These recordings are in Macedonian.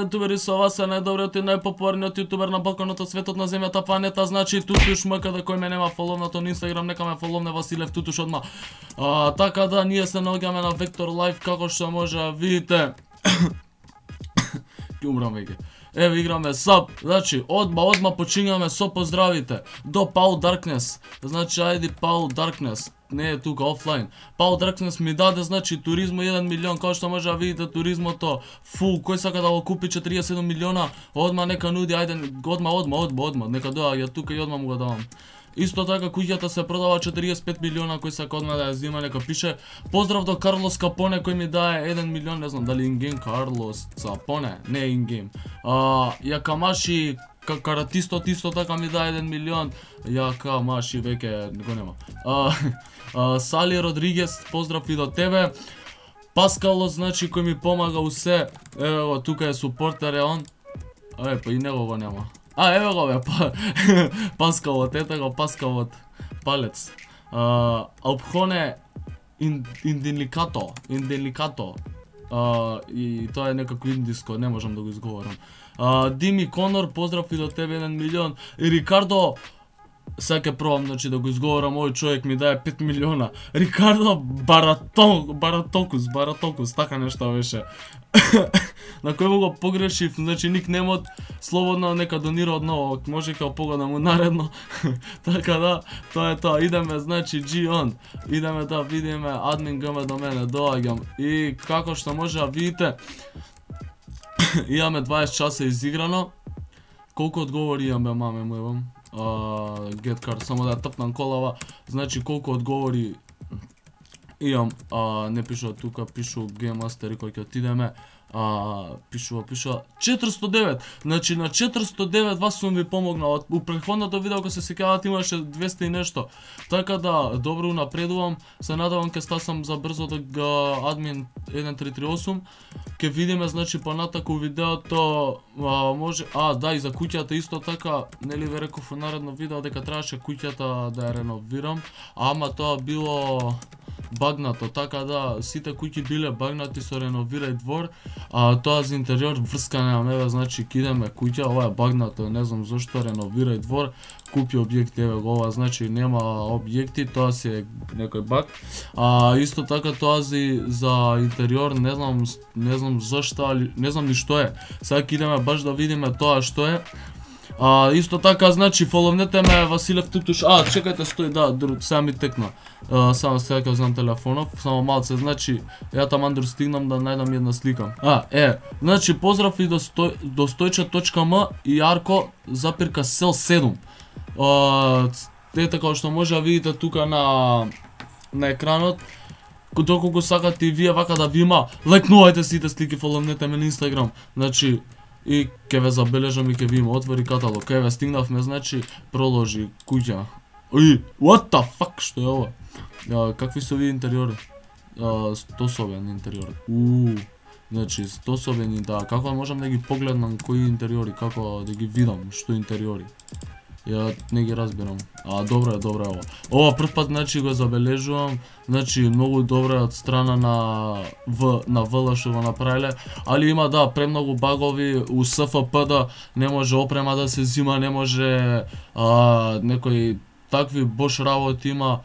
јутубери, со вас е најдобриот и најпопуларниот јутубер на балконото, светот, на земјата, планета, значи Тутуш МК, кој ме нема фоловнато на Инстаграм, нека ме фоловне Василев Тутуш одма. Така да, ние се наоѓаме на Vector Live, како што може да видите. Ке умрам веќе. Еве играме саб, значи одма почињаме со поздравите до Paul Darkness. Значи ајди Paul Darkness, не е тука офлайн. Paul Darkness ми даде значи туризмо 1 милион, како што може да видите туризмото фул, кој сака да го купи 47 милиона, одма нека нуди, ајде одма, нека доаѓа тука и одма му го давам. Исто така куќата се продава 45 милиона, кој сака одма да ја зима, нека пише. Поздрав до Карлос Капоне кој ми дае 1 милион, не знам дали ингейм Карлос Капоне, не ингейм. Јакамаши каратистот исто така ми дае 1 милион, Јакамаши веќе го нема. Сали Родригес, поздрав и до тебе. Паскало, значи кој ми помага усе, еве го тука е супортер е он. Па и него го нема. Еве го бе, Паскалот, ете го Паскалот, палец. Алпхоне Инделикато, и тоа е некако индиско, не можам да го изговорам. Дими Конор, поздрав и до тебе 1 милион. И Рикардо, сега ќе пробам значи да го изговорам, овој човек ми дае 5 милиона. Рикардо Баратокус, така нешто беше. На кој го погрешив, значи никнемот, слободно нека донира одново, може као погодам наредно. Така да, тоа е тоа, идеме значи G-on, идеме да видиме админ ГМ до мене, доаѓам. И како што може да видите, имаме 20 часа изиграно. Колку одговори имаме, маме му евам. Get card, само да тапнам колава, значи колку одговори имам, не пишува тука, пишува Game Master и кој ќе отидеме, пишува 409, значи на 409 вас сум ви помогнал, у претходното видео кога се сеќавате имаше 200 и нешто, така да добро напредувам, се надевам ке стасам за брзо да админ 1338, ке видиме значи понатаку видеото, може, да и за куќата исто така, нели ве реков во наредно видео дека требаше куќата да ја реновирам, ама тоа било багнато, така да сите куќи биле багнати со реновирај двор, тоа за интериор врска немам, еве значи кидеме куќа, ова е багнато, не знам зошто реновирај двор, купи објекти, еве го ова, значи нема објекти, тоа си е некој баг. Исто така тоа за интериор, не знам зашто, не знам ни што е. Сега идеме баш да видиме тоа што е. Исто така, значи, фоловнете ме Василев Тутуш. Чекајте, стои, да, сега ми текна. Само сега ќе знам телефонов, само малце, значи, ја таман стигнам да најдам една слика. Значи, поздрав и до Стојче.м и Арко запирка Сел 7. Ете како што може да видите тука на екранот, доколку сакате и вие вака да ви има, лајкнувајте сите слики, фоловнете ме на Инстаграм, значи, и ке ве забележам и ке ви има, отвори каталог, еве стигнавме, значи, проложи куќа. What the fuck, што е ова? Какви се овие интериори? 100-собен интериор. Значи, 100-собени, да, како можам да ги погледнам кои интериори, како да ги видам, што интериори? Ја не ги разбирам. Добро е ова. Ова прв пат, значи, го забележувам, значи, многу добро е од страна на ВЛ што го направиле, али има, да, премногу багови, у СФП не може опрема да се зима, не може некои такви бош работи има,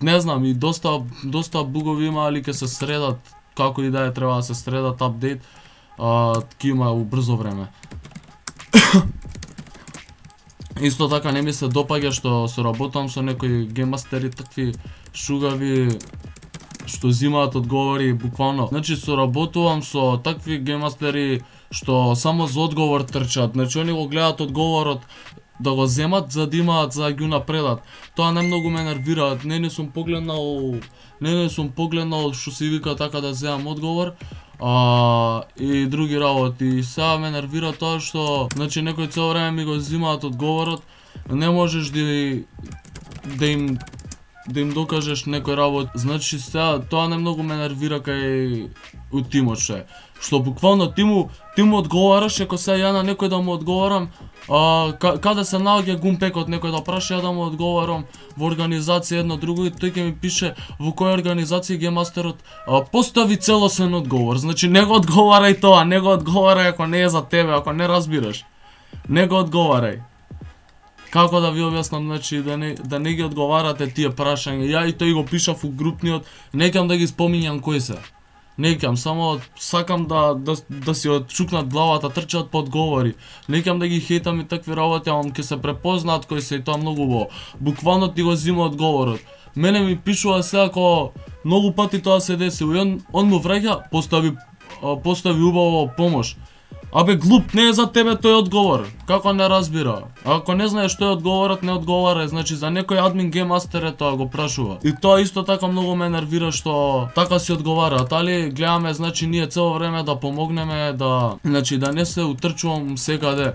не знам, и доста бугови има, али ке се средат, како и да е, треба да се средат, апдейт, ки има у брзо време. Исто така не ми се допаѓа што соработам со некои гейммастери такви шугави што зимаат одговори буквално. Значи соработувам со такви гейммастери што само за одговор трчат. Значи они го гледаат одговорот да го земат за да имаат за да ги напредат. Тоа најмногу ме нервираат. Не сум погледнал што се вика така да земам одговор. И други работи. Сега ме нервира тоа што, значи, некои цело време ми го зимаат одговорот, не можеш да им докажеш некој работ. Значи, сега тоа најмногу ме нервира кај у тимот што буквално ти му одговараш, ако сега ја на некој да му одговарам, каде се наоѓа гумпекот, некој да праша, ја да му одговарам во организација едно друго и тој ќе ми пише во која организација геймастерот постави целосен одговор. Значи не го одговарај тоа, не го одговарај ако не е за тебе, ако не разбираш. Не го одговарај. Како да ви објаснам, значи да не ги одговарате тие прашања. Ја и тој го пишав у групниот, некам да ги споминјам кои се. Некам, само сакам да си отчукнат главата, трчат по одговори. Некам да ги хейтам и такви работи, ама ќе се препознаат кои се и тоа многу во. Буквално ти го зима одговорот. Мене ми пишува се ако многу пати тоа се деси. Он му враќа, постави убаво помош. Абе глуп, не е за тебе тој одговор. Како не разбира? Ако не знаеш што е одговорот, не одговарај. Значи за некој админ гейммастер е тоа го прашува. И тоа исто така многу ме нервира што така си одговараат. Али гледаме, значи ние цело време да помогнеме, значи да не се утрчувам секаде,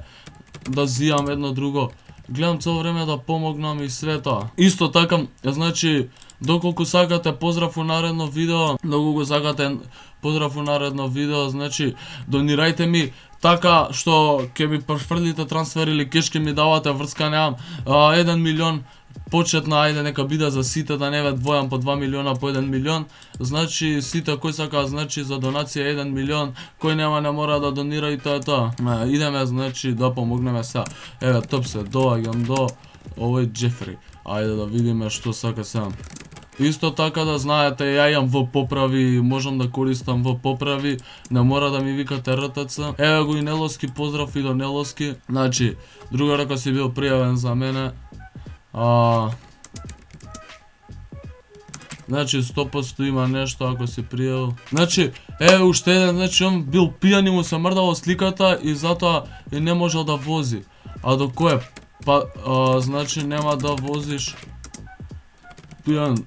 да зијам едно друго. Гледам цело време да помогнам и све тоа. Исто така, значи доколку сакате поздрав у наредно видео, значи донирајте ми така што ќе ми префрлите трансфер или кеш ќе ми давате, врска немам. 1 милион почетна, ајде нека биде за сите, да не ве двојам по 2 милиона по 1 милион. Значи сите кој сака, значи за донација 1 милион, кој нема не мора да донира и тоа е тоа. Идеме значи да помогнеме сега. Еве топ се, доаѓам до овој Джефри. Ајде да видиме што сака сега. Исто така да знаете, ја имам В поправи, можам да користам В поправи, не мора да ми викате РТЦ. Еве го и Неловски, поздрав и до Неловски. Значи, друга рака си бил пријавен за мене. Значи 100% има нешто ако си пријавил. Значи, еве уште еден, значи он бил пијан и му се мрдало сликата и затоа и не можел да вози. А до кој? Па, значи нема да возиш пијан.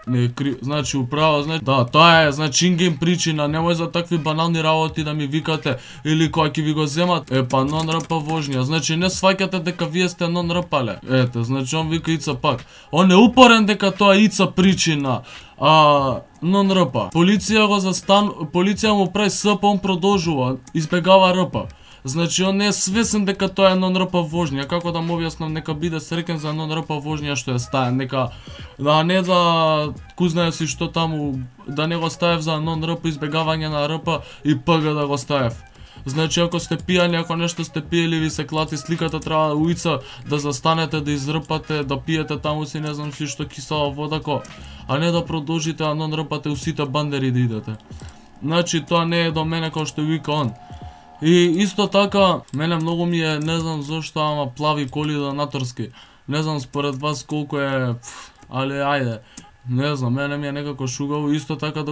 Не значи управа, значи да, тоа е значи ингейм причина, немој за такви банални работи да ми викате или кога ќе ви го земат, па нон-РП вожња, значи не сваќате дека вие сте нон-РП-ле. Ете, значи он вика ица пак. Он е упорен дека тоа ица причина. Нон-РП. Полиција му прави СП, он продолжува, избегава РП. Значи он не е свесен дека тоа е нон-РП вожња, како да му објаснам, нека биде среќен за нон-РП вожња што е стаен, нека да не за кузнае си што таму, да не го ставев за нон-РП избегавање на РП и ПГ да го ставев. Значи ако сте пијани, ако нешто сте пиели, ви се клати сликата, треба уица да застанете, да изрпате, да пиете таму си не знам си што кисела водако, а не да продолжите а нон-РП-те у сите бандери да идете. Значи тоа не е до мене како што вика он. И исто така, мене многу ми е, не знам зошто, ама плави коли донаторски. Не знам според вас колку е, али ајде. Не знам, мене ми е некако шугаво. Исто така,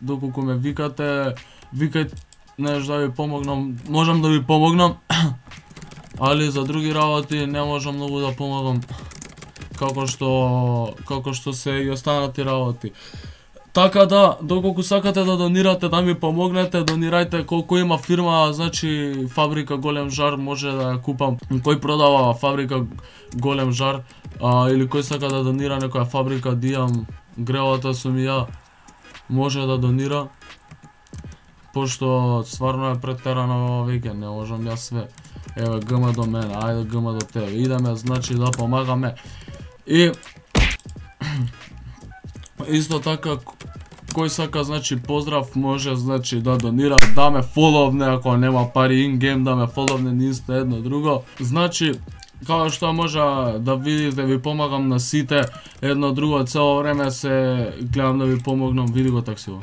доколку ме викате, викај, неш да ви помогнам, можам да ви помогнам. Али за други работи не можам многу да помогам. Како што се и останати работи. Така да, доколку сакате да донирате, да ми помогнете, донирајте колку има фирма, значи фабрика Голем жар, може да ја купам. Кој продава фабрика Голем жар, или кој сака да донира некоја фабрика, дијам гревата сум и ја, може да донира. Пошто стварно е претерано веќе, не можам ја све. Еве ГМ до мене, ајде ГМ до тебе. Идеме, значи да помагаме. И исто така, кој сака, значи, поздрав, може, значи, да донира, да ме фоловне, ако нема пари ингейм, да ме фоловне нисто едно друго. Значи, како што може да видите, ви помагам на сите, едно друго, цело време се гледам да ви помогнам, види го таксиво.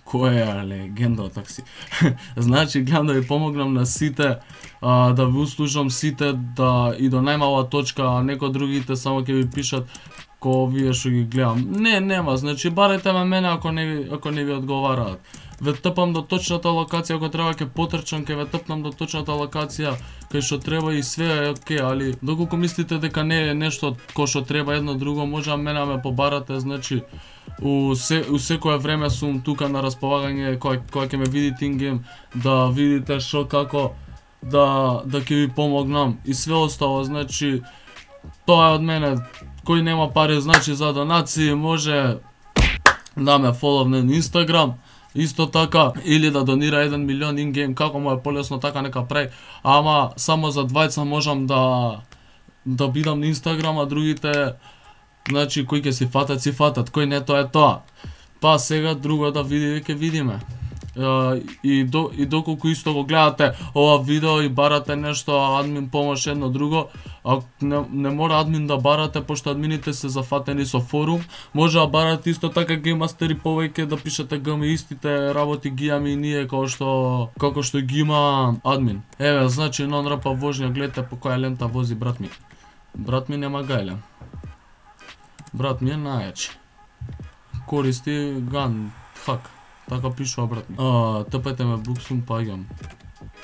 Кој е легенда од такси? Значи, гледам да ви помогнам на сите, да ви услужам сите, да и до најмала точка, а некои другите само ќе ви пишат ко вие што ги гледам. Нема, значи барете ме мене ако не ви одговараат. Ве тпам до точната локација, ако треба ќе потрчам, ќе ве тпнам до точната локација, кај што треба и све е окей, али доколку мислите дека не е нешто кој што треба едно друго, може мене ме побарате, значи у секое време сум тука на располагање, кога ќе ме видите ингейм, да видите што како да ќе ви помогнам и све остало, значи тоа е од мене. Кој нема пари, значи за донации, може да ме фоловне на Инстаграм, исто така, или да донира 1 милион ингейм, како му е полесно така нека прави, ама само за двајца можам да да бидам на Инстаграм, а другите значи кои ќе си фатат, кој не, тоа е тоа. Па сега друго да ќе видиме. И доколку исто го гледате ова видео и барате нешто админ помош едно друго, не мора админ да барате, пошто админите се зафатени со форум, може да барате исто така геймастери повеќе, да пишете ГМ, истите работи ги имаме и ние како што ги има админ. Еве, значи нон-рапа вожња, гледате по која лента вози брат ми. Брат ми нема гајле. Брат ми е најачи. Користи ган, хак. Така пишува брат ми. Тпете ме буксум, паѓам.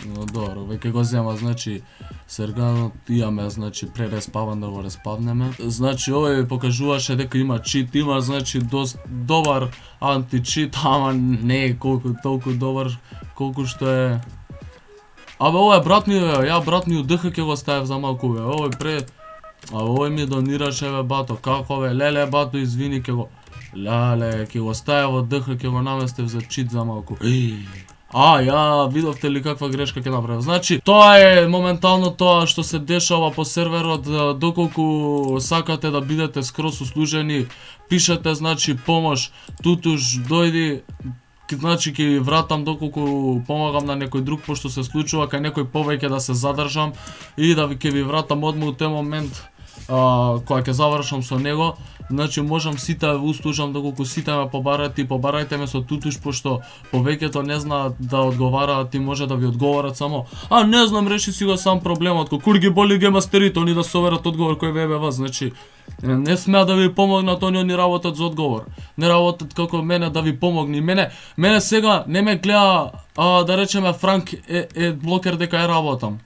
Добро, веќе го зема, значи серганот имаме, значи пререспаван да го респавнеме. Значи овој покажуваше дека има чит, има значи добар анти-чит, ама не е толку добар колку што е. Абе ова е брат ми, ја брат ми удх ќе го ставев за малку бе. Овој ми донираше бе бато, како бе, леле бато извини ќе го. Леле, ќе го ставев од ДХ, ќе го наместев за чит за малку. Ја видовте ли каква грешка ќе направив? Значи, тоа е моментално тоа што се дешава по серверот, доколку сакате да бидете скроз услужени, пишете значи помош, тутуш дојди, значи ќе ви вратам доколку помагам на некој друг, пошто се случува кај некој повеќе да се задржам и да ќе ви вратам одма у тој момент кога ќе завршам со него. Значи можам сите да ви услужам доколку сите ме побарате и побарајте ме со тутуш, пошто повеќето не знаат да одговараат и може да ви одговорат само не знам, реши си го сам проблемот, кур ги боли геймастерите, они да соверат одговор кој ВБВ, значи не смеа да ви помогнат, они работат за одговор. Не работат како мене да ви помогни. Мене сега не ме гледа да речеме Франк е блокер дека ја работам.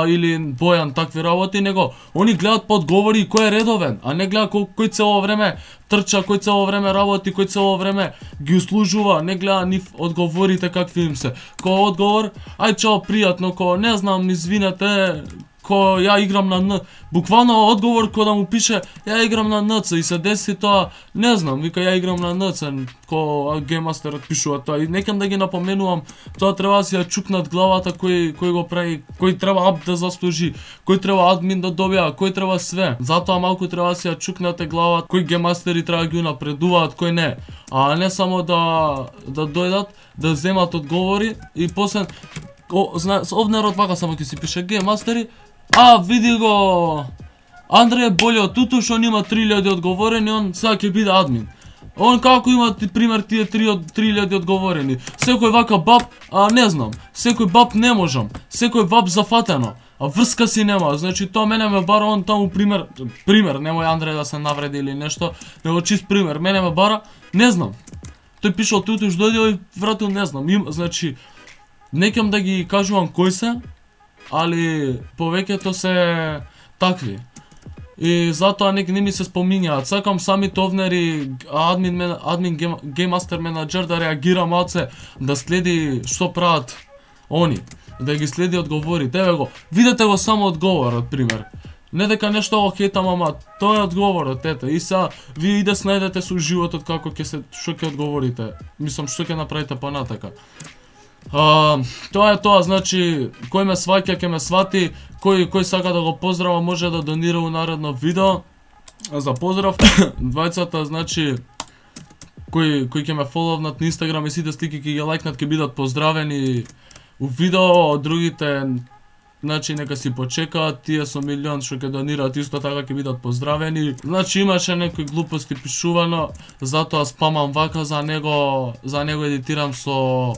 Или Бојан, такви работи, него они гледат по одговори кој е редовен, а не гледа кој цело време трча, кој цело време работи, кој цело време ги услужува, не гледа ни одговорите какви им се. Кој одговор, ај чао, пријатно, кој не знам, извинете, кој ја играм на Н. Буквално одговор кој да му пише ја играм на НЦ и се деси тоа, не знам, вика ја играм на НЦ, кој геймастерот пишува тоа и некам да ги напоменувам, тоа треба да си ја чукнат главата кој го прави, кој треба ап да заслужи, кој треба админ да добија, кој треба све. Затоа малку треба да си ја чукнате главата, кој геймастери треба да ги напредуваат, кој не. А не само да дојдат, да земат одговори и после овнерот вака само ќе си пише геймастери. Види го, Андреј боли од тутуш, он има 3000 одговорени, он сега ќе биде админ. Он како има пример тие 3000 одговорени. Секој вака баб, не знам, секој баб не можам, секој баб зафатено, врска си нема, значи тоа мене ме бара, он таму пример, немој Андреј да се навреди или нешто, него чист пример, мене ме бара, не знам. Тој пишал тутуш, дојдел и вратил, не знам, значи, некам да ги кажувам кој се, али повеќето се такви. И затоа не ми се спомињаат. Сакам самите овнери, админ гейммастер менаџер да реагира малце, да следи што прават они, да ги следи одговорите. Еве го, видете го само одговорот, пример. Не дека нешто го хетам, ама тоа е одговорот, ете. И сега вие иде снајдете со животот како што ќе одговорите. Мислам што ќе направите понатака. Тоа е тоа, значи, кој ме сваќа, ќе ме свати, кој сака да го поздрава, може да донира у наредно видео. За поздрав, двајцата, значи, кој ќе ме фоловнат на Инстаграм и сите слики ќе ги лајкнат, ќе бидат поздравени у видео, другите, значи, нека си почекаат, тие со милион што ќе донираат исто така ќе бидат поздравени. Значи, имаше некои глупости пишувано, затоа спамам вака, за него едитирам со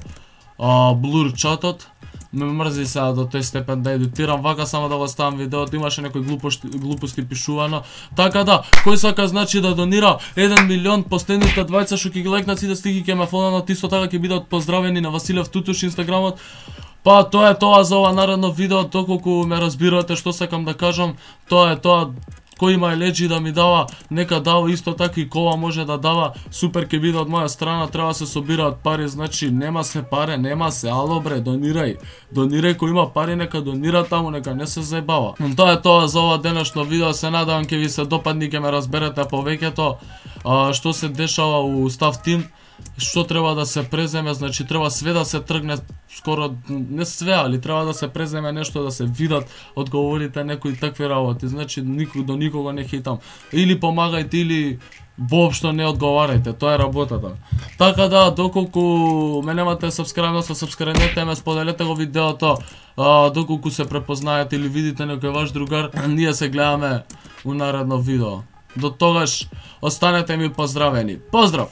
блур чатот. Ме мрзи сега до тој степен да едитирам вака само да го ставам видеото, имаше некои глупости пишувано. Така да, кој сака значи да донира 1 милион, последните двајца што ќе ги лајкнат сите слики ќе ме фоловнат, исто така ќе бидат поздравени на Василев Тутуш Инстаграмот. Па тоа е тоа за ова наредно видео, доколку ме разбирате што сакам да кажам, тоа е тоа. Кој има леџи да ми дава, нека дава, исто така и кола може да дава, супер ќе биде од моја страна, треба да се собираат пари, значи нема се пари, ало бре, донирај, кој има пари нека донира таму, нека не се заебава. Тоа е тоа за ова денешно видео, се надевам ќе ви се допадне, ќе ме разберете повеќето што се дешава у Staff Team. што треба да се преземе, значи треба све да се тргне, скоро не све, али треба да се преземе нешто, да се видат одговорите некои такви работи, значи до никого не хитам. Или помагајте, или воопшто не одговарајте, тоа е работата. Така да, доколку ме немате сабскрајбнете ме, споделете го видеото, доколку се препознаете или видите некој ваш другар, ние се гледаме у наредно видео. До тогаш, останете ми поздравени. Поздрав!